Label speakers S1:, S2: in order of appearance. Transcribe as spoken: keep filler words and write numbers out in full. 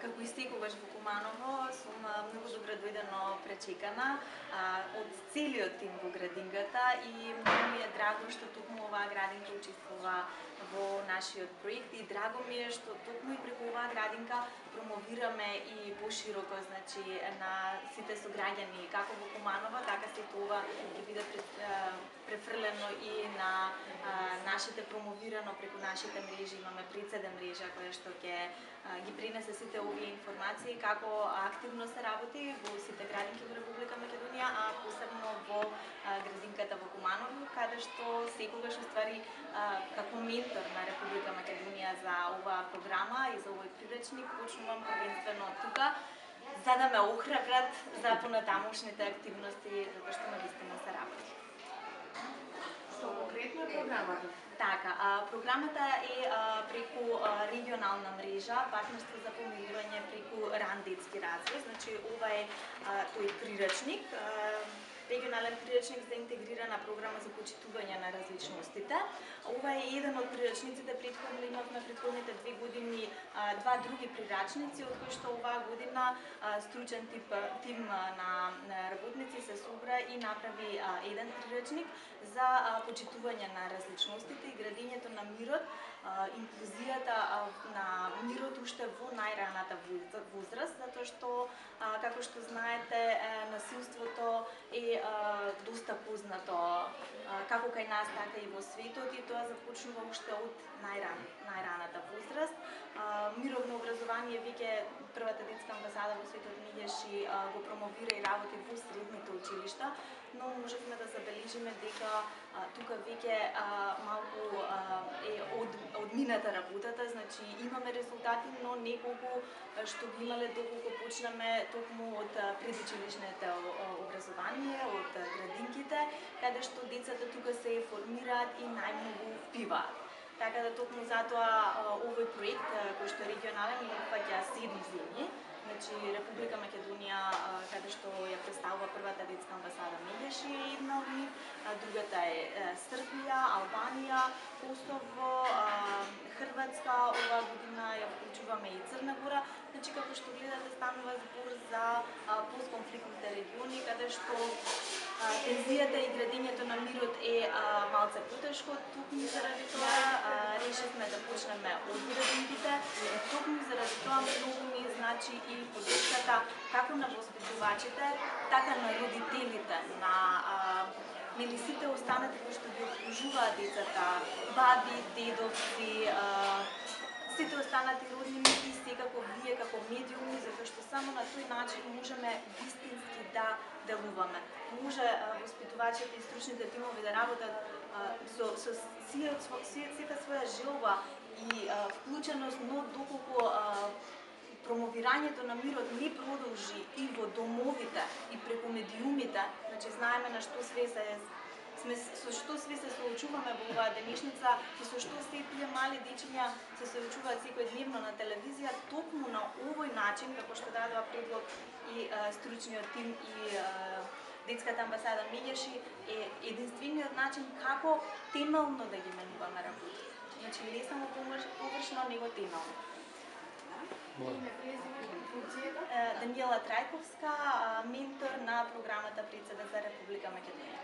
S1: како и секогаш во Куманово, сум многу добро дојдено пречекана од целиот тим во градинката и многу ми е драго што токму оваа градинка учествува во нашиот проект и драго ми е што токму и преку оваа градинка промовираме и пошироко, значи, на сите сограѓани како во Куманово, така сето ова ќе биде префрлено и на нашите промовирано преку нашите мрежи. Имаме прицеде мрежа која што ќе ги пренесе сите овие информации како активно се работи во сите градинки во Република Македонија, а посебно во градинката во Куманово, каде што секогаш уствари како ментор на Република Македонија за оваа програма и за овој приречник почнувам првенствено тука, за да ме охрабрат за понатамошните активности, затоа што навистина се работи.
S2: Што конкретно е програмата?
S1: Така, а, програмата е а, преку а, регионална мрежа, партнерство за помирување преку ран детски развој. Значи, ова е а, тој приречник, а, регионален приречник за интегрирана програма за почитување на различностите. Ова е еден од приречниците, претходно имавме претходните две години а, два други приречници, од кои што оваа година а, стручен тип, тим на, на работници се собра и направи а, еден приречник за а, почитување на различностите и градењето на мирот, а, инклузијата а, на мирот уште во најраната возраст, затоа што, а, како што знаете, насилството е а, доста познато а, како кај нас, така и во светот, и тоа започнува уште од најран, најраната возраст. А, мировно образование веќе првата детска амбасада во светот Мијеши а, го промовира и работи во средните училишта, но можевме да забележиме дека а, тука веќе а, малку а, е од, одмината работата, значи имаме резултати, но неколку што би имале доколку почнеме токму од предучилишното образование, од градинките, каде што децата тука се формираат и најмногу впиваат. Така да токму затоа овој проект кој што е регионален и опфаќа седум земји, значи Република Македонија, каде што ја представува првата детска амбасада Мијеши е една од нив, другата е Србија, Албанија, Косово, Хрватска, оваа година ја вклучуваме и Црна Гора. Значи, како што гледате, станува збор за постконфликтните региони, каде што тензијата и градењето на мирот е а, малце потешко. Токму заради тоа решивме да почнеме од градинките. Токму заради тоа многу ми значи и поддршката како на воспитувачите, така на родителите, на а, нели сите останати кои што ги обслужуваат децата, баби, дедовци, а, сите останати роднини и секако вие како медиуми, затоа што само на тој начин можеме вистински да делуваме. Може воспитувачите и стручните тимови да работат а, со, со сета своја желба и а, вклученост, но доколку а, промовирањето на мирот не продолжи и во домовите и преку медиумите, значи знаеме на што све се сме со што све се соочуваме во оваа денешница и со што се тие мали дечиња се соочуваат секојдневно на телевизија, токму на овој начин, како што дадува предлог и а, стручниот тим и а, детската амбасада Мијеши, е единствениот начин како темелно да ги менуваме работи. Значи не само површно, него темелно. Даниела Трајковска, ментор на програмата Прицеде за Република Македонија.